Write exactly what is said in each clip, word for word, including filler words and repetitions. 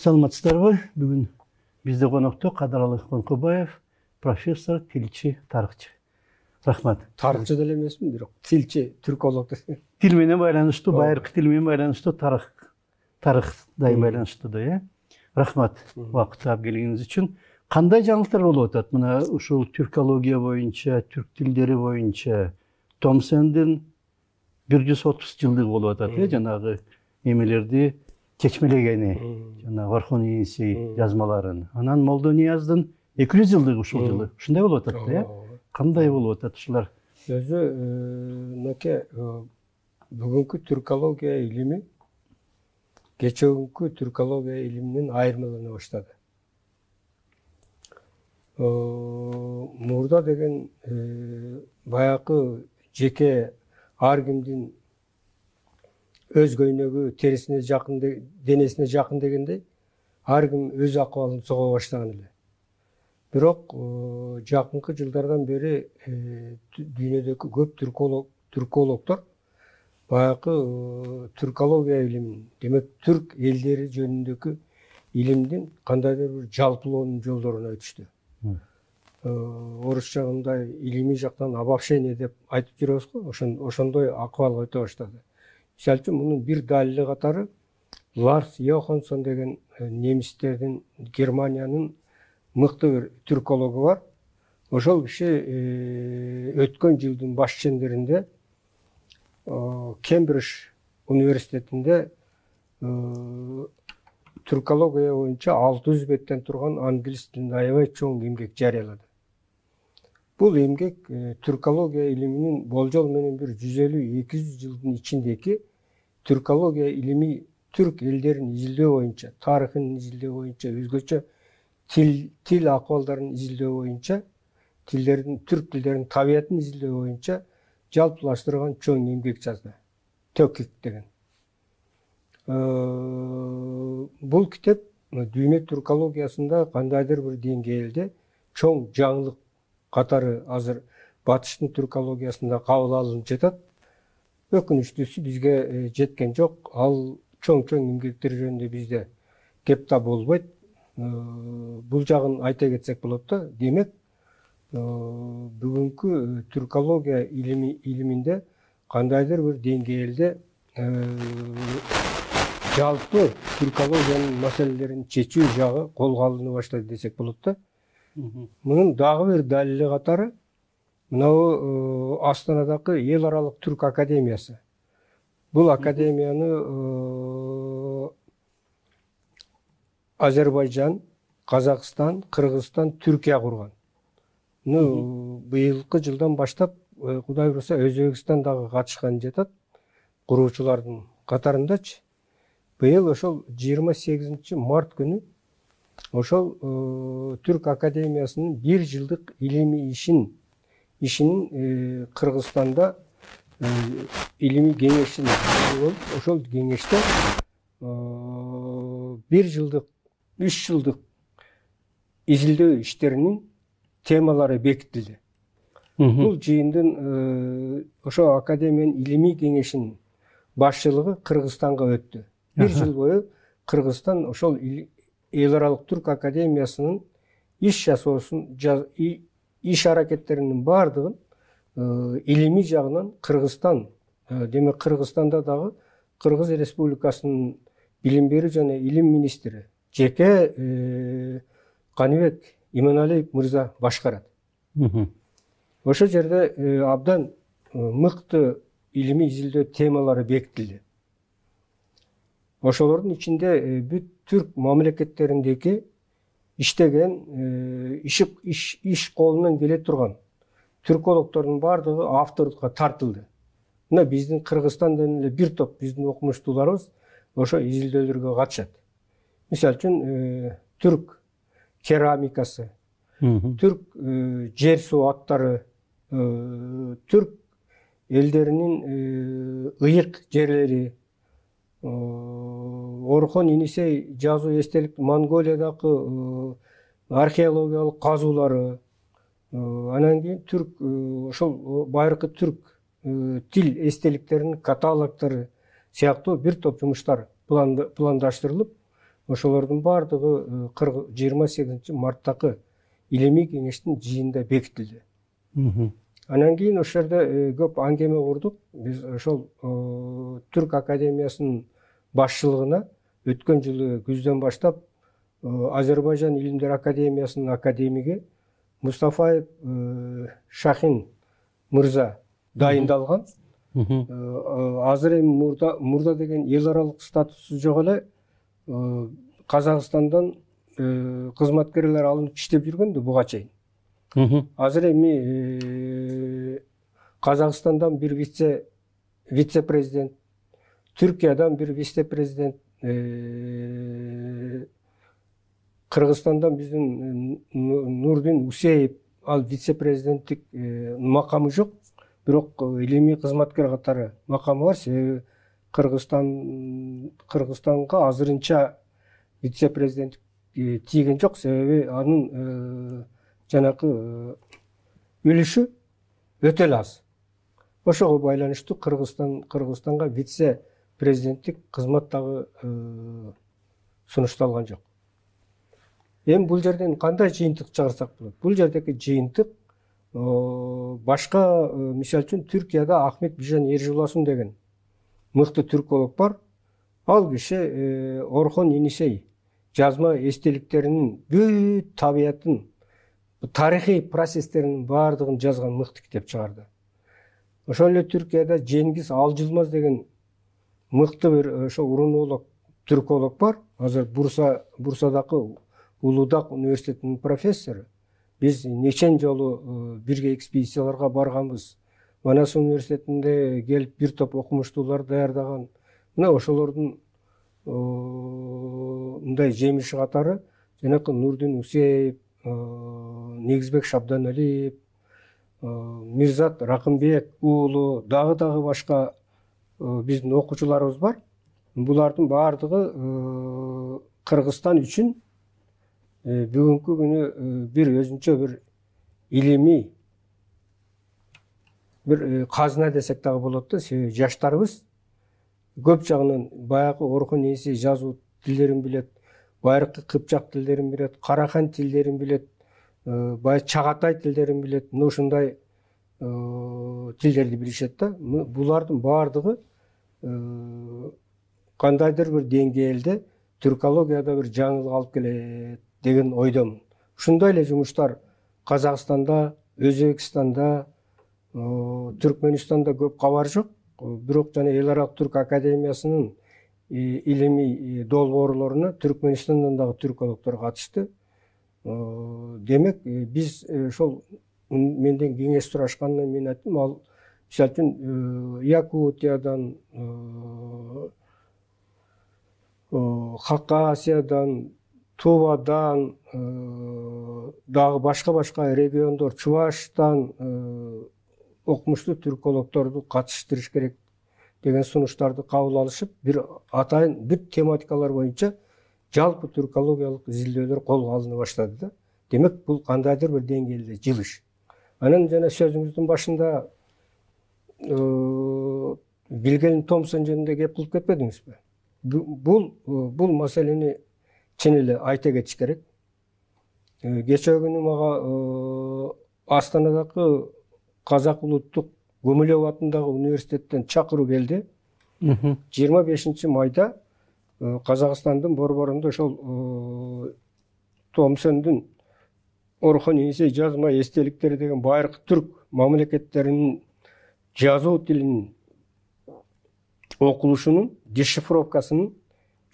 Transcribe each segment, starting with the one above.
Саламатсыздарбы? Бүгүн бизде конокто Кадыралы Конкобаев, профессор, тилчи, тарыхчы. Рахмат. Тарыхчы деле эмесмин, бирок тилчи, түрколог. Тил менен байланыштуу, байыркы тил менен байланыштуу, тарых, тарых дайым байланыштуу да, э? Рахмат убакыт таап келгениңиз үчүн. Кандай жаңылыктар болуп атат? Мына ушул түркология боюнча, түрк тилдери боюнча Томсендин бир жүз отуз жылдыгы болуп атат, э? Жанагы эмелерди чечмелегени, жана Орхон ийнси жазмаларын. Анан Молдо Нияздын эки жүз жылдыгы ушул жылы. Ушундай болуп атат да, э? Кандай болуп атат ушулар? Өзү мынакей бүгүнкү түркология илими кечеүнкү түркология илиминен айырмалана баштады. Мурда деген баягы жеке ар кимдин өз көйнөгү терисине жакын, денесине жакын дегендей, ар ким өз акыбалын сого баштаган эле. Бирок жакынкы жылдардан бери дүйнөдөгү көп түрколог, түркологдор баягы түркология илимин, демек түрк элдери жөнүндөгү илимдин кандайдыр бир жалпылоонун жолдоруна өтүштү. Орусча мындай илимий жактан обобщение деп айтып жүрөбүз го, ошондой акыбалга өтө баштады. Мисалы үчүн мунун бир далили катары Ларс Йоханссон деген немистердин, Германиянын мыкты бир түркологу бар. Ошол киши өткөн жылдын баш чендеринде Кембридж университетинде түркология боюнча алты жүз беттен турган англис тилинде аябай чоң эмгек жарыялады. Бул эмгек түркология илиминин болжол менен бир жүз элүү эки жүз жылдын ичиндеги түркология илими түрк элдерин изилдөө боюнча, тарыхын изилдөө боюнча, өзгөчө тил тил акыбалдарын изилдөө боюнча, тилдердин, түрк тилдеринин табиятын изилдөө боюнча жалпылаштырган чоң эмгек жазды. Төкик деген. Бул китеп дүйнө түркологиясында кандайдыр бир деңгээлде чоң жаңылык катары азыр батыштын түркологиясында кабыл алынып жатат. Өкүнүчтүүсү бизге жеткен жок. Ал чоң-чоң эмгектер жөнүндө бизде кеп да болбойт. Бул жагын айта кетсек болот да. Демек, бүгүнкү түркология илими илиминде кандайдыр бир деңгээлде жалпы түркологиянын маселелерин чечүү жагы колго алына баштады десек болот да. Мунун дагы бир далили катары мынау Астанадагы Эл аралык түрк академиясы. Бул академияны Азербайжан, Казакстан, Кыргызстан, Түркия курган. Ну, быйылкы жылдан баштап, Кудай буйруса, Өзбекстан дагы катышкан жатат, куруучулардын катарындачы. Быйыл ошол жыйырма сегизинчи март күнү ошол Түрк академиясынын бир жылдык илимий ишин ишинин Кыргызстанда илимий кеңешин болуп, ошол кеңеште бир жылдык, үч жылдык изилдөө иштеринин темалары бекитилди. Бул жыйындын ошо академиянын илимий кеңешинин башчылыгы Кыргызстанга өттү. Бир жыл бою Кыргызстан ошол Эл аралык түрк академиясынын иш жасоосун, иш аракеттеринин бардыгын илимий жагынан Кыргызстан, демек Кыргызстанда дагы Кыргыз Республикасынын билим берүү жана илим министри жеке Каныбек Иманалиев мырза башкарат. Ошол жерде абдан мыкты илимий изилдөө темалары бекитилди. Ошолордун ичинде бүт түрк мамлекеттериндеги иштеген, иш иш колунан келе турган түркологдордун бардыгы авторлукка тартылды. Мына биздин Кыргызстандан эле бир топ биздин окумуштууларыбыз ошо изилдөөлөргө катышат. Мисалы үчүн түрк керамикасы, түрк жер суу аттары, түрк элдеринин ыйык жерлери, Орхон Енисей жазуу эстелик, Монголиядагы археологиялык казуулары, анан кийин түрк ошол байыркы түрк тил эстеликтеринин каталогдору сыяктуу бир топ жумуштар пландаштырылып, ошолордун баардыгы жыйырма сегизинчи марттагы илимий кеңештин жыйынында бекитилди. Анан кийин ошол жерде көп аңгеме курдук. Биз ошол Түрк академиясынын башчылыгына өткөн жылы күздөн баштап Азербайжан илимдер академиясынын академиги Мустафаев Шахин мырза дайындалган. Азыр эми мурда мурда деген эл аралык статусу жок эле Казакстандан кызматкерлер алынып иштеп жүргөн да буга чейин. Азыр эми Казакстандан бир вице вице-президент, Түркиядан бир вице-президент, Кыргызстандан биздин Нурдин Усеев ал вице-президенттик макамы жок, бирок илимий кызматкер катары макамы бар. Себеби Кыргызстан Кыргызстанга азырынча вице-президент тийген жок. Себеби анын жанакы үлүшү өтө эле аз. Ошого байланыштуу Кыргызстан Кыргызстанга вице-президенттик кызмат дагы сунушталган жок. Эми бул жерден кандай жыйынтык чыгарсак болот? Бул жердеги жыйынтык башка, мисалы үчүн Түркияда Ахмет Бижан Эржуласун деген мыкты түрколог бар. Ал киши Орхон Енисей жазма эстеликтеринин бүт табиятын, тарыхый процесстеринин баардыгын жазган мыкты китеп чыгарды. Ошол эле Түркияда Жеңгиз Алжылмаз деген мыкты бир ошо урунолог түрколог бар. Азыр Бурса Бурсадагы Улуудак университетинин профессору. Биз нечен жолу бирге экспедицияларга барганбыз. Манас университетинде келип бир топ окумуштуулар даярдаган. Мына ошолордун мындай жемиши катары жанакы Нурдин Усеев, Негизбек Шабданалиев, Мирзат Ракымбек уулу, дагы дагы башка биздин окуучуларыбыз бар. Булардын баардыгы Кыргызстан үчүн бүгүнкү күнү бир өзүнчө бир илимий бир казына десек дагы болот да. Себеби жаштарыбыз көп жагынан баягы Орхон Енисей жазуу тилдерин билет, байыркы кыпчак тилдерин билет, карахан тилдерин билет, бай чагатай тилдерин билет. Мына ушундай тилдерди билишет да. Булардын баардыгы кандайдыр бир деңгээлде түркологияда бир жаңылык алып келет деген ойдомун. Ушундай эле жумуштар Казакстанда, Өзбекстанда, Түркмөнстанда көп кабар жок. Бирок жана эл аралык түрк академиясынын илимий долбоорлоруна Түркмөнстандан дагы түркологдор катышты. Демек, биз ошол менден кеңеш сурашканда мен айттым, ал мисалы үчүн Якутиядан, Хакасиядан, Тувадан, дагы башка-башка региондор, Чуваштан окумуштуу түркологдорду катыштырыш керек деген сунуштарды кабыл алышып, бир атайын бүт тематикалар боюнча жалпы түркологиялык изилдөөлөр колго алына баштады да. Демек, бул кандайдыр бир деңгээлде жылыш. Анан жана сөзүңүздүн башында Вильгельм Томсон жөнүндө кеп кылып кетпедиңизби? Бул бул маселени чын эле айта кетиш керек. Кечээ күнү мага Астанадагы Казак улуттук Гумилев атындагы университеттен чакыруу келди. жыйырма бешинчи майда Казакстандын борборунда ошол Томсондун Орхон Енисей жазма эстеликтери деген байыркы түрк мамлекеттеринин жазуу тилинин окулушунун дешифровкасынын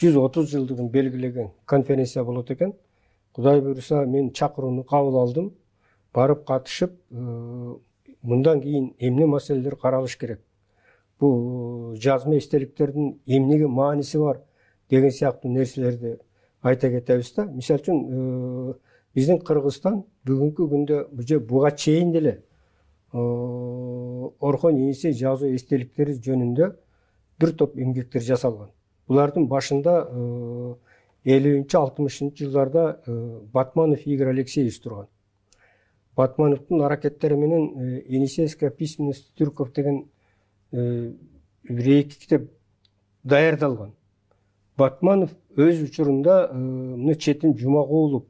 жүз отуз жылдыгын белгилеген конференция болот экен. Кудай буйруса, мен чакырууну кабыл алдым. Барып катышып, мындан кийин эмне маселелер каралыш керек? Бул жазма эстеликтердин эмнеге мааниси бар деген сыяктуу нерселерди айта кетебиз да. Мисалы үчүн, биздин Кыргызстан бүгүнкү күндө же буга чейин деле Орхон Енисей жазуу эстеликтери жөнүндө бир топ эмгектер жасалган. Булардын башында элүүнчү алтымышынчы жылдарда Батманов Игорь Алексеевич турган. Батмановдун аракеттери менен Енисейская письменность түрков деген бир эки китеп даярдалган. Батманов өз учурунда мына Четин Жумагулов,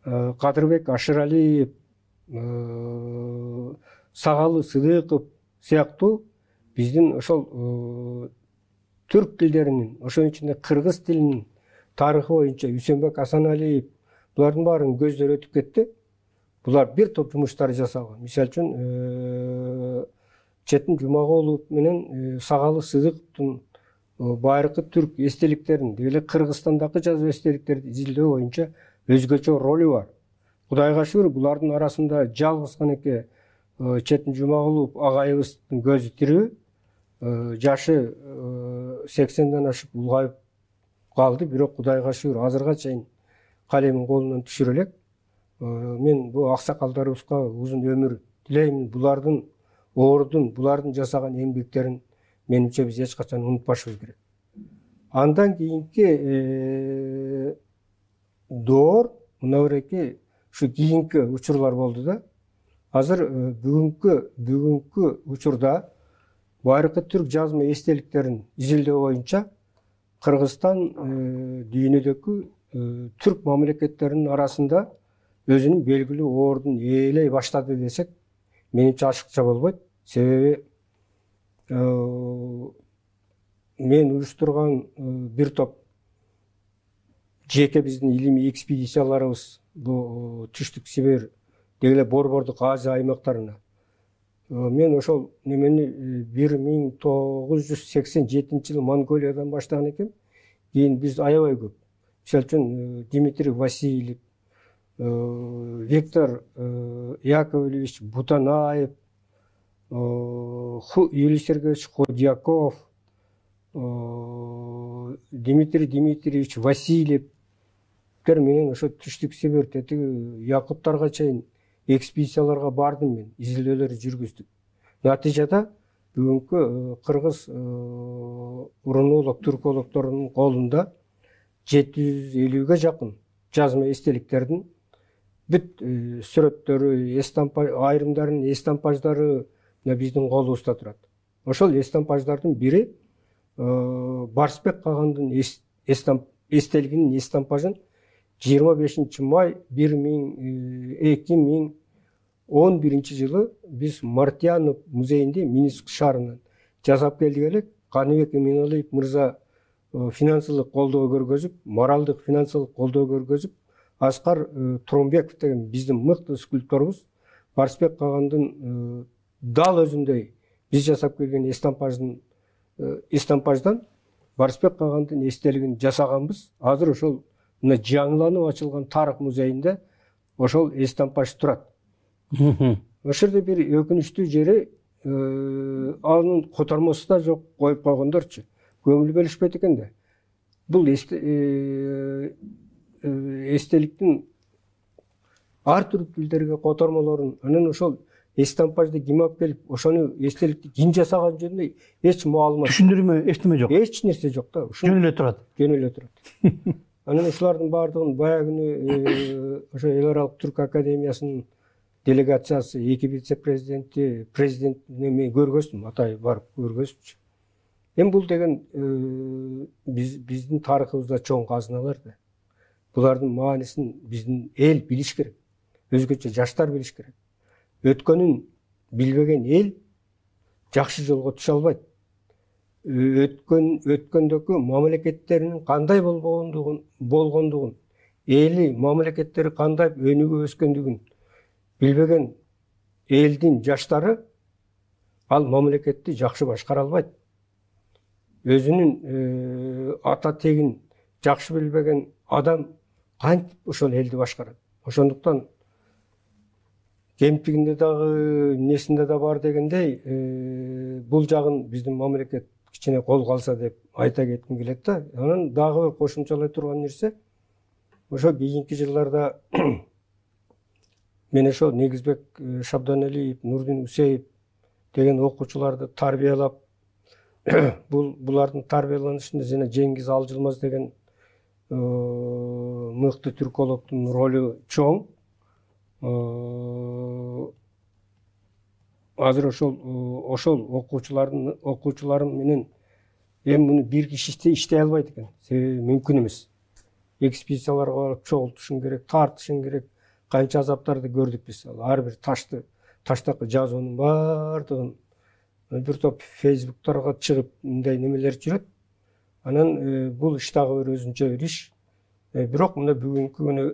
Кадырбек Ашыралиев, Сагалы Сыдыков сыяктуу биздин ошол түрк тилдеринин, ошонун ичинде кыргыз тилинин тарыхы боюнча Үсөнбек Асаналиев булардын баарын көздөр өтүп кетти. Булар бир топ жумуштар жасаган. Мисалы үчүн Четин Жумагулов менен Сагалы Сыдыковдун байыркы түрк эстеликтерин, деле Кыргызстандагы жазуу эстеликтерди изилдөө боюнча өзгөчө ролу бар. Кудайга шүгүр, булардын арасында жалгыз гана Четин Жумагулов агайыбыздын көзү тирүү, жашы сексенден ашып улгайып калды, бирок Кудайга шүгүр азырга чейин калемин колунан түшүрө элек. Мен бул аксакалдарыбызга узун өмүр тилеймин. Булардын оордун, булардын жасаган эмгектерин менимче биз эч качан унутпашыбыз керек. Андан кийинки доор мынабереки ушу кийинки учурлар болду да. Азыр бүгүнкү бүгүнкү учурда байыркы түрк жазма эстеликтерин изилдөө боюнча Кыргызстан дүйнөдөгү түрк мамлекеттеринин арасында өзүнүн белгилүү ордун ээлей баштады десек, менимче ашыкча болбойт. Себеби мен уюштурган бир топ жеке биздин илимий экспедицияларыбыз бул Түштүк Сибир, деле Борбордук Азия аймактарына. Мен ошол немени бир миң тогуз жүз сексен жетинчи жылы Монголиядан баштаган экем. Кийин биз аябай көп. Мисалы үчүн Дмитрий Васильев, Виктор Яковлевич Бутанаев, Юрий Сергеевич Ходьяков, Дмитрий Дмитриевич Васильев менен ошо Түштүк Сибир тетиги Якуттарга чейин экспедицияларга бардым мен, изилдөөлөр жүргүздүк. Натыйжада бүгүнкү кыргыз урунолог, түркологдорунун колунда жети жүз элүүгө жакын жазма эстеликтердин бүт сүрөттөрү, эстампаж, айрымдарынын эстампаждары биздин колубузда турат. Ошол эстампаждардын бири Барсбек Кагандын эстелигинин эстампажын жыйырма бешинчи май эки миң он биринчи жылы биз Мартьянов музейинде Минск шаарынан жасап келдик элек. Каныбек Эминалиев мырза финансылык колдоо көргөзүп, моралдык финансылык колдоо көргөзүп, Аскар Тромбеков деген биздин мыкты скульпторубуз Барсбек Кагандын дал өзүндөй биз жасап келген эстампаждын эстампаждан Барсбек Кагандын эстелигин жасаганбыз. Азыр ошол мына жаңыланып ачылган тарых музейинде ошол эстампаж турат. Ошол жерде бир өкүнүчтүү жери анын котормосу да жок, коюп койгондорчу. Көңүл бөлүшпөйт экен да. Бул эстеликтин ар түрдүү тилдерге котормолорун, анан ошол эстампажды ким алып келип, ошону эстеликти ким жасаган жөнүндө эч маалымат, түшүндүрмө, эчтеме жок. Эч нерсе жок да. Жөн эле турат. Жөн эле турат. Анан ушулардын баардыгын баягы ошо Эл аралык түрк академиясынын делегациясы, эки вице-президенти, президентине мен көргөздүм, атай барып көргөзүпчү. Эми бул деген биз биздин тарыхыбызда чоң казыналар да. Булардын маанисин биздин эл билиш керек. Өзгөчө жаштар билиш керек. Өткөнүн билбеген эл жакшы жолго түшө албайт. Өткөн өткөндөгү мамлекеттеринин кандай болгондугун, болгондугун, эли мамлекеттери кандай өнүгүп өскөндүгүн билбеген элдин жаштары ал мамлекетти жакшы башкара албайт. Өзүнүн ата тегин жакшы билбеген адам кантип ошол элди башкарат? Ошондуктан кемтигинде дагы, несинде да бар дегендей, бул жагын биздин мамлекет кичине колго алса деп айта кетким келет да. Анан дагы бир кошумчалай турган нерсе, ошо кийинки жылдарда мен ошо Негизбек Шабданалиев, Нурдин Усеев деген окуучуларды тарбиялап, бул булардын тарбияланышында жана Жеңгиз Алжылмаз деген мыкты түркологдун ролу чоң. Азыр ошол ошол окуучулардын окуучуларым менен эми муну бир киши иштей албайт экен, себеби мүмкүн эмес. Экспедицияларга барып чогултушуң керек, тартышың керек. Канча азаптарды көрдүк биз. Ар бир ташты, таштакы жазуунун баардыгын бир топ фейсбуктарга чыгып мындай немелер жүрөт. Анан бул иш дагы бир өзүнчө бир иш. Бирок мына бүгүнкү күнү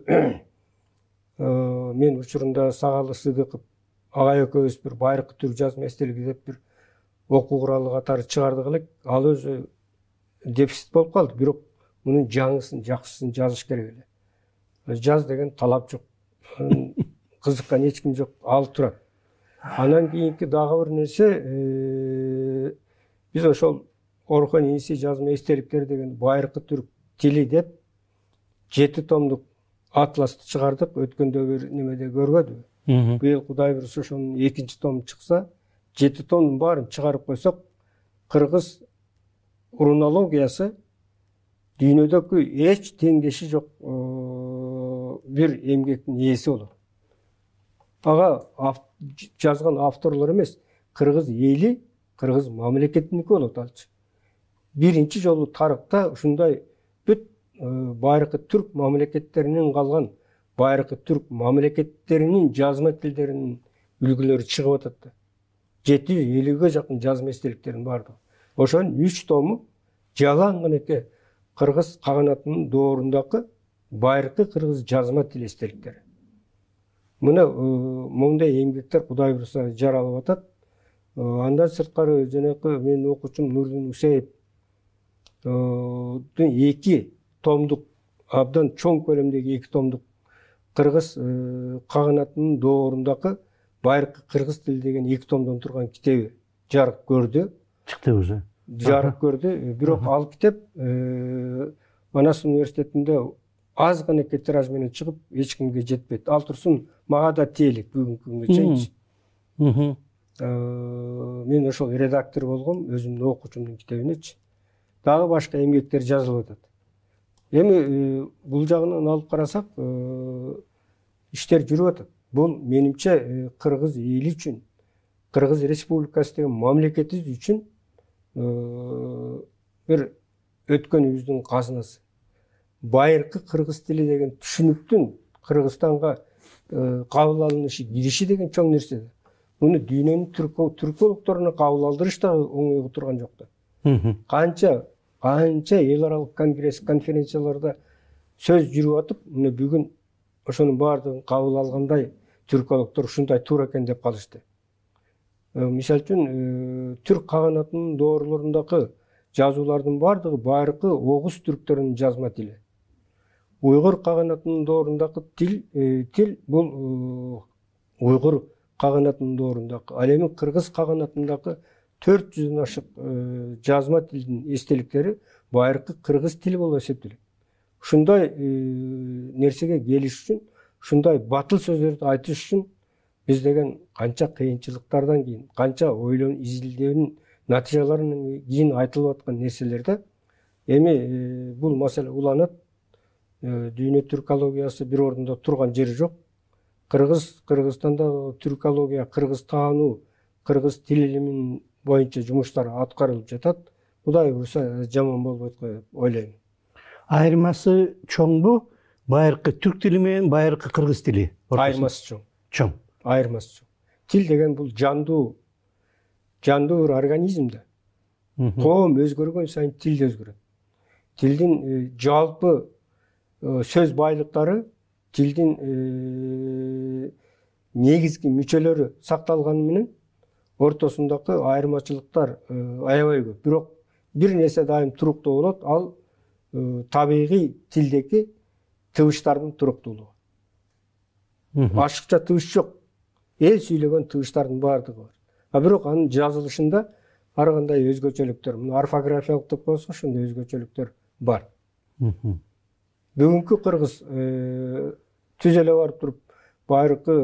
мен учурунда Сагалы Сыдыков агай экөөбүз бир байыркы түрк жазма эстелиги деп бир окуу куралы катары чыгардык элек. Ал өзү дефицит болуп калды. Бирок мунун жаңысын, жакшысын жазыш керек эле. Жаз деген талап жок. Кызыккан эч ким жок, алып турат. Анан кийинки дагы бир нерсе, биз ошол Орхон Иниси жазма эстеликтер деген байыркы түрк тили деп жети томдук атласты чыгардык. Өткөндө бир немеде көрбөдүбү? Быйыл Кудай буйруса ошонун экинчи тому чыкса, жети томдун баарын чыгарып койсок, кыргыз рунологиясы дүйнөдөгү эч теңдеши жок бир эмгектин ээси болот. Ага жазган авторлор эмес, кыргыз эли, кыргыз мамлекетиники болот алчы. Биринчи жолу тарыхта ушундай бүт байыркы түрк мамлекеттеринен калган байыркы түрк мамлекеттеринин жазма тилдеринин үлгүлөрү чыгып атат да. жети жүз элүүгө жакын жазма эстеликтердин бардыгы. Ошонун үч тому жалаң гынекей кыргыз каганатынын доорундагы байыркы кыргыз жазма тил эстеликтери. Мына моундай эмгектер Кудай буйруса жаралып атат. Андан сырткары жанакы менин окуучум Нурдин Усеев эки томдук, абдан чоң көлөмдөгү эки томдук кыргыз каганатынын доорундагы байыркы кыргыз тили деген эки томдон турган китеби жарык көрдү. Чыкты уже. Жарык көрдү. Бирок ал китеп Манас университетинде аз гынекей тираж менен чыгып, эч кимге жетпейт. Ал турсун мага да тиелек бүгүнкү күнгө чейинчи. Мен ошол редактор болгом, өзүмдүн окуучумдун китебинечи. Дагы башка эмгектер жазылып атат. Эми бул жагынан алып карасак, иштер жүрүп атат. Бул менимче кыргыз эли үчүн, Кыргыз Республикасы деген мамлекетибиз үчүн бир өткөнүбүздүн казынасы. Байыркы кыргыз тили деген түшүнүктүн Кыргызстанга кабыл алынышы, кириши деген чоң нерсе. Муну дүйнөнүн түркологторуна кабыл алдырыш да оңой турган жок да. Канча канча эл аралык конгресс, конференцияларда сөз жүрүп атып, мына бүгүн ошонун баардыгын кабыл алгандай түркологтор ушундай туура экен деп калышты. Мисалы үчүн түрк каганатынын доорлорундагы жазуулардын баардыгы байыркы огуз түрктөрүнүн жазма тили. Уйгур каганатынын доорундагы тил тил бул уйгур каганатынын доорундагы. Ал эми кыргыз каганатындагы төрт жүздөн ашык жазма тилдин эстеликтери байыркы кыргыз тили болуп эсептелет. Ушундай нерсеге келиш үчүн, ушундай батыл сөздөрдү айтыш үчүн биз деген канча кыйынчылыктардан кийин, канча ойлон изилдөөнүн натыйжаларынан кийин айтылып аткан нерселерде эми бул маселе уланат. Дүйнө түркологиясы бир ордунда турган жери жок. Кыргыз Кыргызстанда түркология, кыргыз таануу, кыргыз тил илиминин боюнча жумуштар аткарылып жатат. Кудай буйруса жаман болбойт го деп ойлойм. Айырмасы чоңбу? Байыркы түрк тили менен байыркы кыргыз тили. Айырмасы чоң. Чоң. Айырмасы чоң. Тил деген бул жандуу, жандуу бир организм да. Коом өзгөргөн сайын тил да өзгөрөт. Тилдин жалпы сөз байлыктары, тилдин негизги мүчөлөрү сакталганы менен ортосундагы айырмачылыктар аябай көп. Бирок бир нерсе дайым туруктуу болот, ал табигый тилдеги тыбыштардын туруктуулугу. Ашыкча тыбыш жок. Эл сүйлөгөн тыбыштардын баардыгы бар. А бирок анын жазылышында ар кандай өзгөчөлүктөр, мына орфографиялык деп коебуз, ошондой өзгөчөлүктөр бар. Бүгүнкү кыргыз түз эле барып туруп байыркы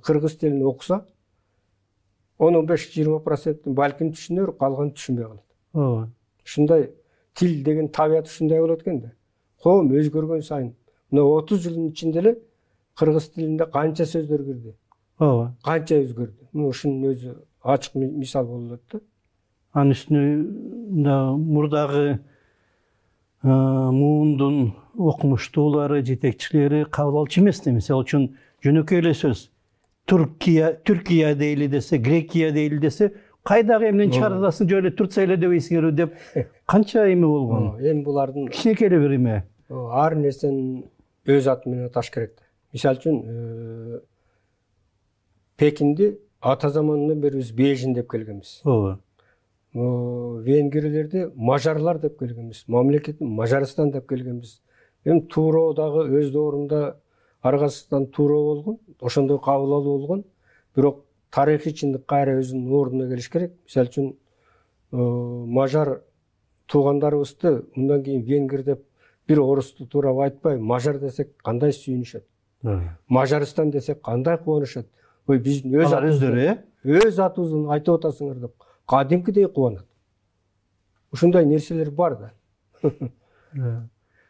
кыргыз тилин окуса, он беш жыйырма процент балким түшүнөр, калган түшүнбөй калат. Ооба. Ушундай тил деген табияты ушундай болот экен да. Коом өзгөргөн сайын, мына отуз жылдын ичинде эле кыргыз тилинде канча сөздөр кирди? Ооба. Канча өзгөрдү? Мына ушунун өзү ачык мисал болот да. анын үстүнө мурдагы муундун окумуштуулары, жетекчилери кабыл алчу эмес. Мисалы үчүн жөнөкөй эле сөз. Түркия, Түркия дейли десе, Грекия дейли десе, кайдагы эмнен чыгарасың, жөн эле Турция эле дебейсиңерби деп канча эме болгон. Эми булардын кичинекей эле бир эме. Ар нерсенин өз аты менен аташ керек. Мисалы үчүн Пекинди ата заманынан бери биз Бейжин деп келгенбиз. Ооба. Венгрлерди мажарлар деп келгенбиз. Мамлекетин Мажарстан деп келгенбиз. Эми тууроо дагы өз доорунда аргасынан тууроо болгон, ошондой кабыл алуу болгон. Бирок тарыхый чындык кайра өзүнүн ордуна келиш керек. Мисалы үчүн мажар туугандарыбызды мындан кийин венгер деп бир орусту туурап айтпай, мажар десек кандай сүйүнүшөт. Мажарстан десек кандай кубанышат. Ой, биздин өз өздөрү, өз атыбызды айтып атасыңар деп кадимкидей кубанат. Ушундай нерселер бар да.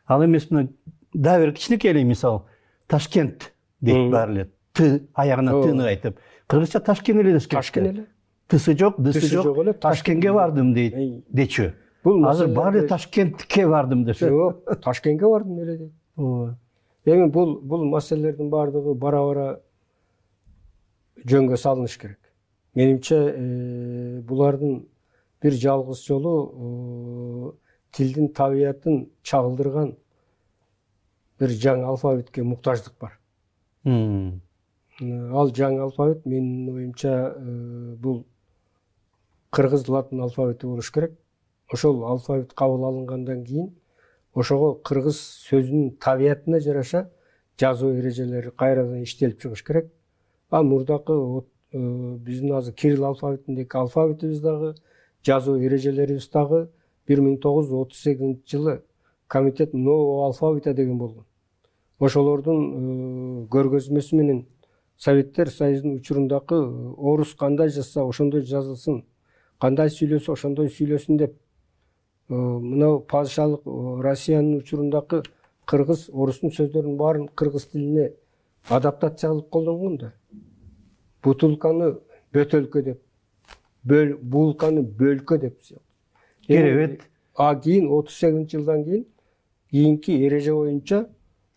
Ал эмес мына дагы бир кичинекей эле мисал. Ташкент дейт баары эле. Т аягына тыны айтып. Кыргызча Ташкент эле десек. Ташкент эле. Тысы жок, дысы жок. Ташкентке бардым дейт. Дечү. Азыр баары эле Ташкентке бардым десе. Жок, Ташкентке бардым эле дейт. Ооба. Эми бул бул маселелердин баардыгы бара-бара жөнгө салыныш керек. Менимче булардын бир жалгыз жолу тилдин табиятын чагылдырган бир жаңы алфавитке муктаждык бар. Ал жаңы алфавит менин оюмча бул кыргыз латын алфавити болуш керек. Ошол алфавит кабыл алынгандан кийин ошого кыргыз сөзүнүн табиятына жараша жазуу эрежелери кайрадан иштелип чыгыш керек. А мурдакы биздин азыр кирилл алфавитиндеги алфавитибиз дагы, жазуу эрежелерибиз дагы бир миң тогуз жүз отуз сегизинчи жылы комитет нового алфавита деген болгон. Ошолордун көргөзмөсү менен Советтер Союзунун учурундагы орус кандай жазса ошондой жазылсын, кандай сүйлөсө ошондой сүйлөсүн деп мына падышалык Россиянын учурундагы кыргыз, орустун сөздөрүнүн баарын кыргыз тилине адаптация кылып колдонгон да. Бутулканы бөтөлкө деп, булканы бөлкө деп. Керебет. А кийин отуз сегизинчи жылдан кийин кийинки эреже боюнча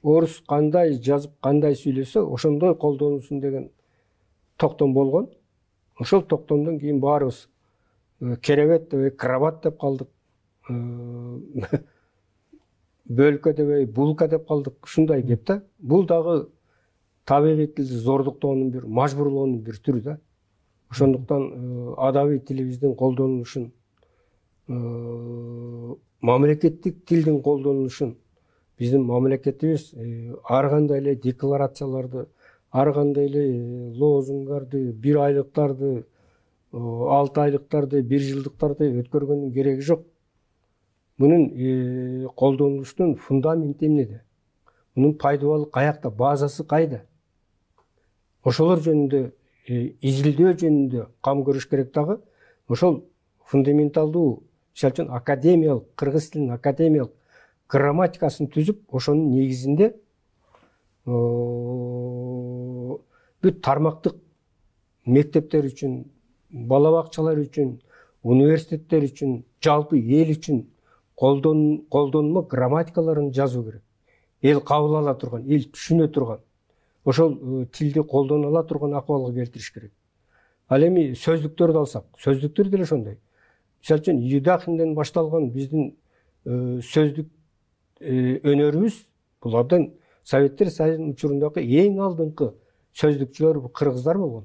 орус кандай жазып, кандай сүйлөсө ошондой колдонулсун деген токтом болгон. Ошол токтомдон кийин баарыбыз керебет деп, крабат деп калдык. Бөлкө деп, булка деп калдык. Ушундай кеп да. Бул дагы табигый тилди зордуктоонун бир, мажбурлоонун бир түрү да. Ошондуктан адабий тилибиздин колдонулушун, мамлекеттик тилдин колдонулушун биздин мамлекетибиз ар кандай эле декларацияларды, ар кандай эле лозунгдарды, бир айлыктарды, алты айлыктарды, бир жылдыктарды өткөргөндүн кереги жок. Мунун колдонулуштун фундаменти эмнеде? Мунун пайдабалы каякта, базасы кайда? Ошолор жөнүндө изилдөө жөнүндө кам көрүш керек дагы. Ошол фундаменталдуу, мисалы үчүн академиялык, кыргыз тилинин академиялык грамматикасын түзүп, ошонун негизинде бүт тармактык мектептер үчүн, бала бакчалар үчүн, университеттер үчүн, жалпы эл үчүн колдонмо грамматикаларын жазуу керек. Эл кабыл ала турган, эл түшүнө турган, ошол тилди колдоно ала турган акыбалга келтириш керек. Ал эми сөздүктөрдү алсак, сөздүктөр деле ошондой. Мисалы үчүн Юдахинден башталган биздин сөздүк өнөрүбүз, булардан Советтер Союзунун учурундагы эң алдыңкы сөздүкчүлөр кыргыздар болгон.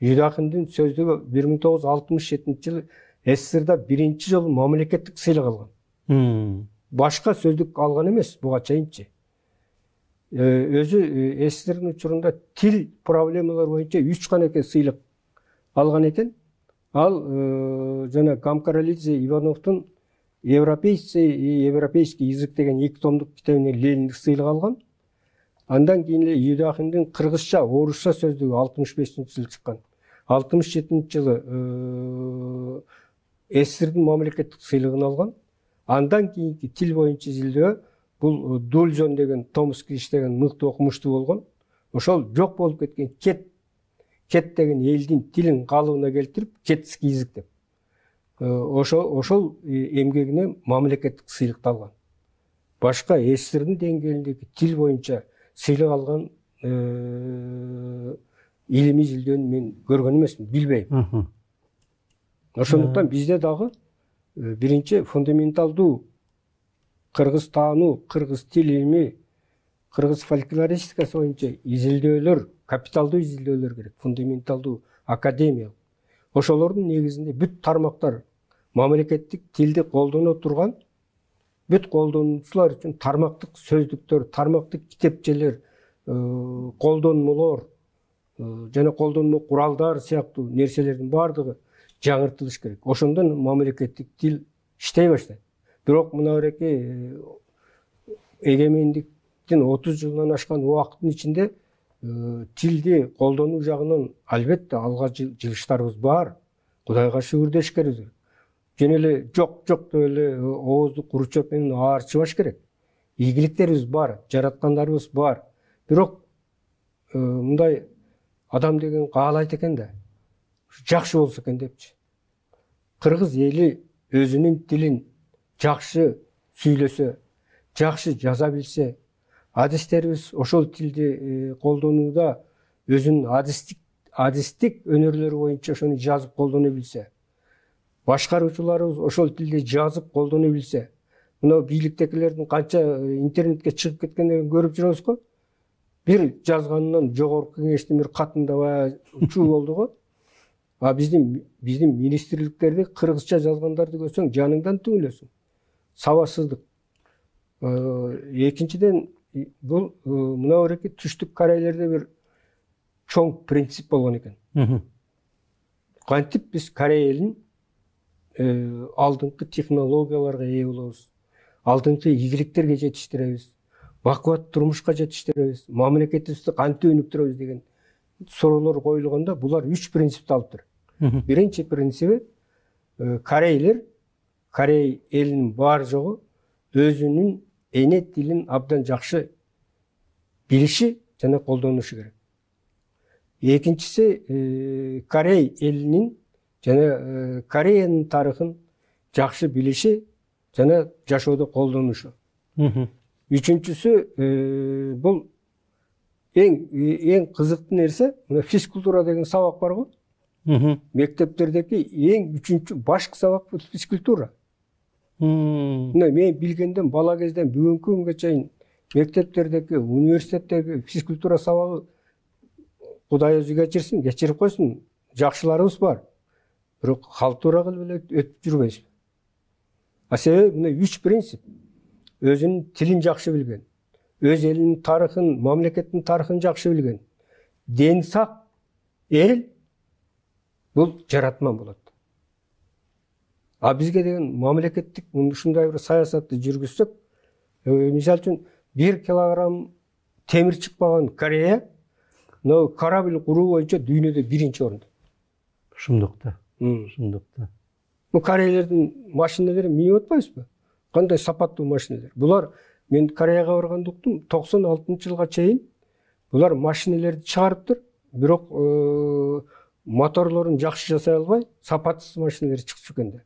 Юдахиндин сөздүгү бир миң тогуз жүз алтымыш жетинчи жылы СССРда биринчи жолу мамлекеттик сыйлык алган. Башка сөздүк алган эмес буга чейинчи. Өзү СССРдин учурунда тил проблемалары боюнча үч канекей сыйлык алган экен. Ал жана Гамкаралидзе Ивановдун Европейцы и европейский язык деген эки томдук китебине Лениндик сыйлык алган. Андан кийин эле Юдахиндин кыргызча, орусча сөздүгү алтымыш бешинчи жылы чыккан. алтымыш жетинчи жылы СССРдин мамлекеттик сыйлыгын алган. Андан кийинки тил боюнча изилдөө бул Дульзон деген Томский иштеген мыкты окумуштуу болгон. Ошол жок болуп кеткен кет кет деген элдин тилин калыбына келтирип, кетский язык деп. ошол ошол эмгегине мамлекеттик сыйлык алган. Башка СССРдин деңгээлиндеги тил боюнча сыйлык алган илимий изилдөөнү мен көргөн эмесмин, билбейм. Ошондуктан бизде дагы биринчи фундаменталдуу кыргыз таануу, кыргыз тил илими, кыргыз фольклористикасы боюнча изилдөөлөр, капиталдуу изилдөөлөр керек, фундаменталдуу, академиялык. Ошолордун негизинде бүт тармактар мамлекеттик тилди колдоно турган, бүт колдонуучулар үчүн тармактык сөздүктөр, тармактык китепчелер, колдонмолор жана колдонмо куралдар сыяктуу нерселердин баардыгы жаңыртылыш керек. Ошондон мамлекеттик тил иштей баштайт. Бирок мына береки эгемендиктин отуз жылынан ашкан убакыттын ичинде тилди колдонуу жагынан албетте алга жылыштарыбыз бар. Кудайга шүгүр деш керек. Жөн эле жок жок деп эле оозду куру чөп менен аарчыбаш керек. Ийгиликтерибиз бар, жараткандарыбыз бар. Бирок мындай адам деген каалайт экен да, жакшы болсо экен депчи. Кыргыз эли өзүнүн тилин жакшы сүйлөсө, жакшы жаза билсе, адистерибиз ошол тилди колдонууда өзүнүн адистик адистик өнөрлөрү боюнча ошону жазып колдоно билсе, башкаруучуларыбыз ошол тилди жазып колдоно билсе, мына бийликтегилердин канча интернетке чыгып кеткендерин көрүп жүрөбүз го. Бир жазганынан жогорку кеңештин бир катында баягы чуу болду го. А биздин биздин министрликтерди кыргызча жазгандарды көрсөң жаныңдан түңүлөсүң. Сабатсыздык. Экинчиден бул мына береки түштүк Корейлерде бир чоң принцип болгон экен. Кантип биз Корей элин алдыңкы технологияларга ээ болобуз, алдыңкы ийгиликтерге жетиштиребиз, бакубат турмушка жетиштиребиз, мамлекетибизди кантип өнүктүрөбүз деген суроолор коюлганда булар үч принципти алыптыр. Биринчи принциби Корейлер, Корей элинин бар жогу өзүнүн эне тилин абдан жакшы билиши жана колдонушу керек. Экинчиси Корей элинин жана Кореянын тарыхын жакшы билиши жана жашоодо колдонушу. Үчүнчүсү бул эң эң кызыктуу нерсе, мына физкультура деген сабак бар го. Мектептердеги эң үчүнчү башкы сабак бул физкультура. Мына мен билгенден бала кезден бүгүнкү күнгө чейин мектептердеги, университеттеги физкультура сабагы Кудай өзү кечирсин, кечирип койсун, жакшыларыбыз бар. Бирок халтура кылып эле өтүп жүрбөйбүз. А себеби мына үч принцип. Өзүнүн тилин жакшы билген, өз элинин тарыхын, мамлекеттин тарыхын жакшы билген, дени сак эл бул жаратман болот. А бизге деген мамлекеттик ушундай бир саясатты жүргүзсөк, мисалы үчүн бир килограмм темир чыкпаган Корея но корабль куруу боюнча дүйнөдө биринчи орунда. Шындыкта. Шындыкта. Бул корейлердин машиналары минип атпайбызбы? Кандай сапаттуу машиналар. Булар мен Кореяга барганда уктум, токсон алтынчы жылга чейин булар машиналарды чыгарыптыр, бирок моторлорун жакшы жасай албай, сапатсыз машиналар чыгып экен да.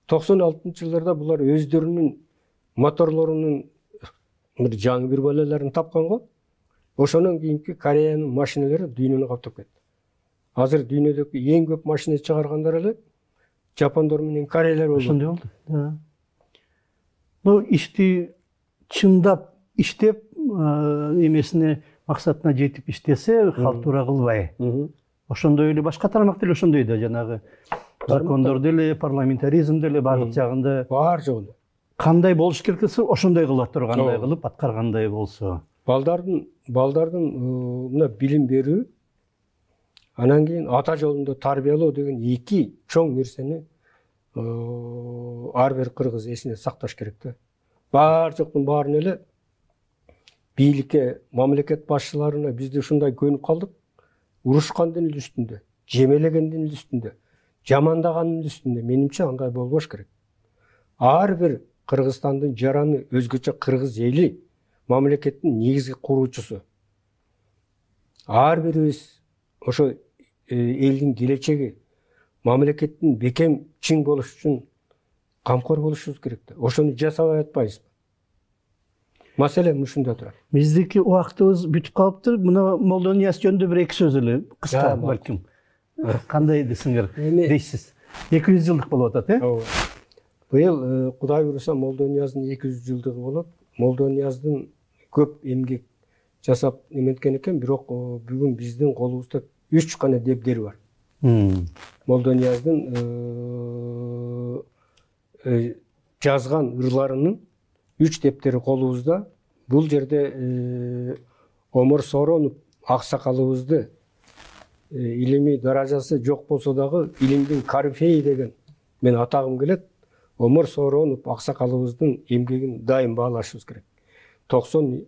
токсон алтынчы жылдарда булар өздөрүнүн моторлорунун бир жаңы бир балаларын тапкан го. Ошонун кийинки Кореянын машиналары дүйнөнү каптап кетти. Азыр дүйнөдөгү эң көп машина чыгаргандар эле жапондор менен корейлер болду. Ошондой болду. Ну, ишти чындап иштеп, эмесине максатына жетип иштесе, халтура кылбай. Ошондой эле башка тармак деле ошондой да, жанагы закондор деле, парламентаризм деле бардык жагында бар жогунда. Кандай болуш керек десе, ошондой кыла тургандай кылып аткаргандай болсо. Балдардын балдардын мына билим берүү, анан кийин ата жолунда тарбиялоо деген эки чоң нерсени ар бир кыргыз эсине сакташ керек да. Бар жоктун баарын эле бийликке, мамлекет башчыларына бизде ушундай көнүп калдык. Урушкандын эле үстүндө, жемелегендин эле үстүндө, жамандагандын эле үстүндө. Менимче андай болбош керек. Ар бир Кыргызстандын жараны, өзгөчө кыргыз эли мамлекеттин негизги куруучусу. Ар бирибиз ошо элдин келечеги, мамлекеттин бекем чың болуш үчүн камкор болушубуз керек да. Ошону жасабай атпайбызбы? Маселе ушунда турат. Биздики убактыбыз бүтүп калыптыр. Мына Молдо Нияз жөнүндө бир эки сөз эле кыска балким. Кандай десиңер дейсиз? эки жүз жылдык болуп атат, э? Ооба. Быйыл Кудай буйруса Молдо Нияздын эки жүз жылдыгы болот. Молдо Нияздын көп эмгек жасап неметкен экен, бирок бүгүн биздин колубузда үч гана дептери бар. Молдо Нияздын жазган ырларынын үч дептери колубузда. Бул жерде Омор Сооронов аксакалыбызды илимий даражасы жок болсо дагы илимдин корифеи деген мен атагым келет. Омор Сооронов аксакалыбыздын эмгегин дайым баалашыбыз керек. токсон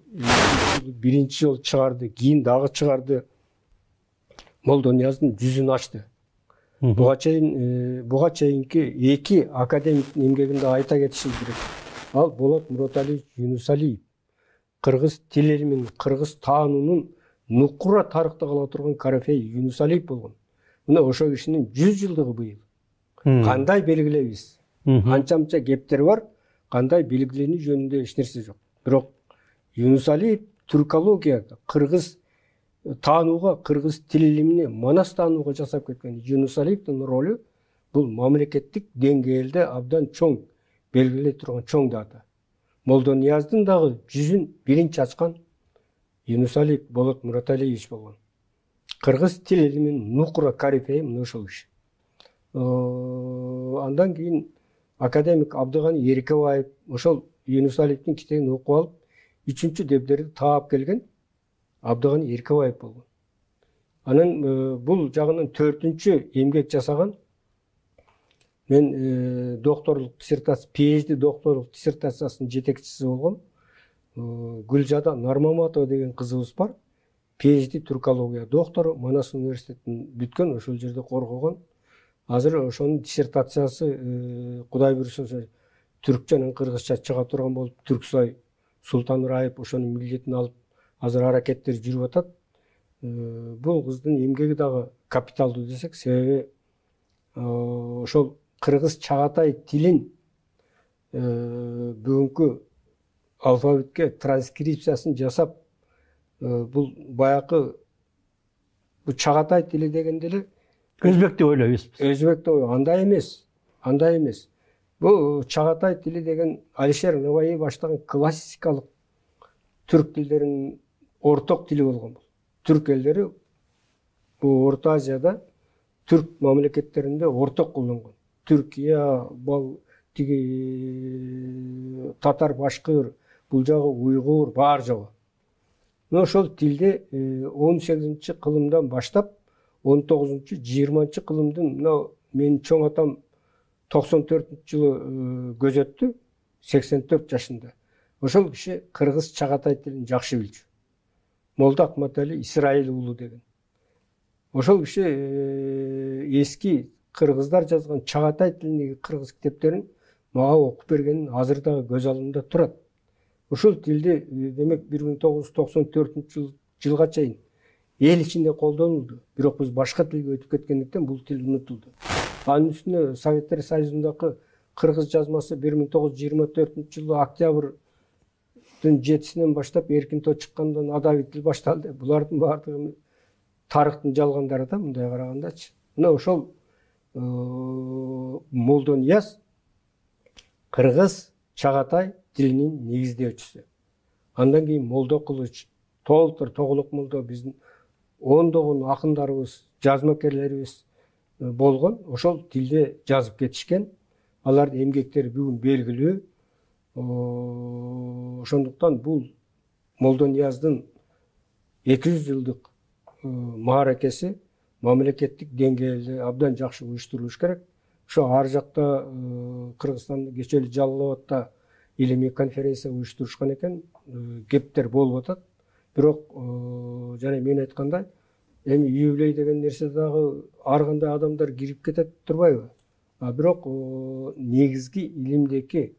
биринчи жолу чыгарды, кийин дагы чыгарды. Молдо Нияздын жүзүн ачты. Буга чейин буга чейинки эки академиктин эмгегинде айта кетишибиз керек. Ал Болот Муроталиевич Юнусалиев, кыргыз тил илиминин, кыргыз таануунун нукура тарыхта кала турган корифей Юнусалиев болгон. Мына ошол кишинин жүз жылдыгы быйыл. Кандай белгилейбиз? Анча-мынча кептер бар, кандай белгиленүү жөнүндө эч нерсе жок. Бирок Юнусалиев түркологияга, кыргыз таанууга, кыргыз тил илимине, манас таанууга жасап кеткен Юнусалиевдин ролу бул мамлекеттик деңгээлде абдан чоң белгилей турган чоң дата. Молдо Нияздын дагы жүзүн биринчи ачкан Юнусалиев Болот Муроталиевич болгон. Кыргыз тил илиминин нукура корифеи мына ошол киши. Андан кийин академик Абдыганы Эркебаев ошол Юнусалиевдин китебин окуп алып, үчүнчү дептерди таап келген Абдыганы Эркебаев болгон. Анан бул жагынан төртүнчү эмгек жасаган мен докторлук диссертация, PhD докторлук диссертациясынын жетекчиси болгом. Гүлжада Нармаматова деген кызыбыз бар. PhD түркология доктору, Манас университетин бүткөн, ошол жерде коргогон. Азыр ошонун диссертациясы Кудай буйруса түркчө менен кыргызча чыга турган болуп, Түрксой Султан Раип ошонун милдетин алып, азыр аракеттер жүрүп атат. Бул кыздын эмгеги дагы капиталдуу десек, себеби ошол кыргыз чагатай тилин бүгүнкү алфавитке транскрипциясын жасап, бул баякы бу чагатай тили дегенде эле өзбек деп ойлойбуз. Өзбек деп ойлойбуз. Андай эмес. Андай эмес. Бу чагатай тили деген Алишер Набаи баштаган классикалык түрк тилдеринин орток тили болгон. Түрк элдери бу Орто Азияда түрк мамлекеттеринде орток колдонгон. Түркия, бал тиги татар, башкыр, бул жагы уйгур, баар жагы. Мына ошол тилде он сегизинчи кылымдан баштап он тогузунчу жыйырманчы кылымдын мына менин чоң атам токсон төртүнчү жылы көз өттү, сексен төрт жашында. Ошол киши кыргыз чагатай тилин жакшы билчү. Молда Акматали Исраил уулу деген. Ошол киши эски кыргыздар жазган чагатай тилиндеги кыргыз китептерин мага окуп бергенин азыр дагы көз алдымда турат. Ошол тилди демек бир миң тогуз жүз токсон төртүнчү жылга чейин эл ичинде колдонулду. Бирок биз башка тилге өтүп кеткендиктен бул тил унутулду. Анын үстүнө Советтер Союзундагы кыргыз жазмасы бир миң тогуз жүз жыйырма төртүнчү жылы октябрдын жетисинен баштап эркинтоо чыккандан адабий тил башталды. Булардын баардыгы тарыхтын жалгандары да мындай карагандачы. Мына ошол Молдо Нияз кыргыз чагатай тилинин негиздөөчүсү. Андан кийин Молдо Кылыч, Толтур Тоголок Молдо биздин ондогон акындарыбыз, жазмакерлерибиз болгон. Ошол тилде жазып кетишкен. Алардын эмгектери бүгүн белгилүү. Ошондуктан бул Молдо Нияздын эки жүз жылдык мааракеси мамлекеттик деңгээлде абдан жакшы уюштурулуш керек. Ошо ар жакта Кыргызстанда кечээ эле Жалал Абадта илимий конференция уюштурушкан экен, кептер болуп атат. Бирок жана мен айткандай, эми юбилей деген нерсе дагы ар кандай адамдар кирип кетет турбайбы? А бирок негизги илимдеги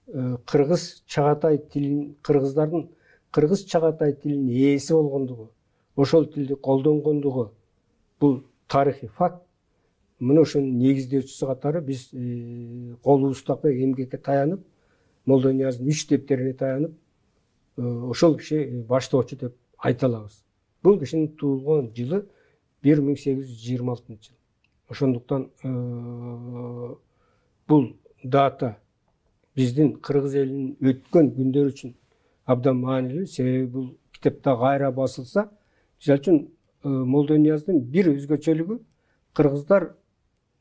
кыргыз чагатай тилин, кыргыздардын кыргыз чагатай тилинин ээси болгондугу, ошол тилди колдонгондугу бул тарыхый факт. мына ошонун негиздөөчүсү катары биз колубуздагы эмгекке таянып, Молдонияздын үч тептерине таянып, ошол киши баштоочу деп айта алабыз. Бул кишинин туулган жылы бир миң сегиз жүз жыйырма алтынчы жыл. Ошондуктан бул дата биздин кыргыз элинин өткөн күндөр үчүн абдан маанилүү, себеби бул китепте кайра басылса, мисалы үчүн Молдонияздын бир өзгөчөлүгү кыргыздар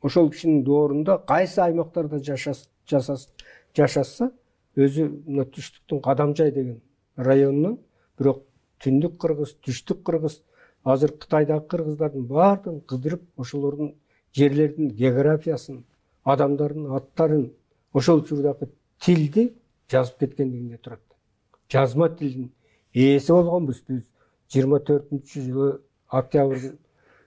ошол кишинин доорунда кайсы аймактарда жашаса, өзү мына түштүктүн Кадамжай деген районунан, бирок түндүк кыргыз, түштүк кыргыз, азыр Кытайдагы кыргыздардын баардыгын кыдырып, ошолордун жерлердин географиясын, адамдардын аттарын, ошол учурдагы тилди жазып кеткендигинде турат. Жазма тилдин ээси болгонбуз биз. жыйырма төртүнчү жылы октябрдын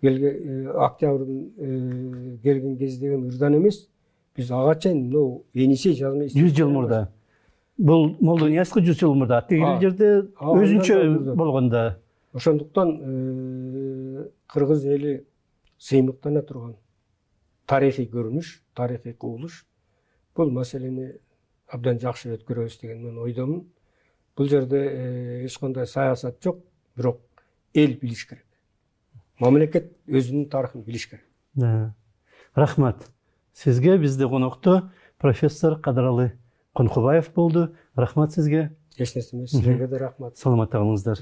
келген октябрдын келген кездеги ырдан эмес, биз ага чейин мына Енисей жазма жүз жыл мурда. Бул Молдониясқа жүз жыл мурда, тигил жерде өзүнчө болгондо. Ошондуктан кыргыз эли сыймыктана турган тарыхый көрүнүш, тарыхый кубулуш. Бул маселени абдан жакшы өткөрөбүз деген мен ойдомун. Бул жерде эч кандай саясат жок, бирок эл билиш керек. Мамлекет өзүнүн тарыхын билиш керек. Рахмат. Сизге бизде конокто профессор Кадралы Конкубаев болду. Рахмат сизге. Эч нерсе эмес, силерге да рахмат. Саламатта калыңыздар.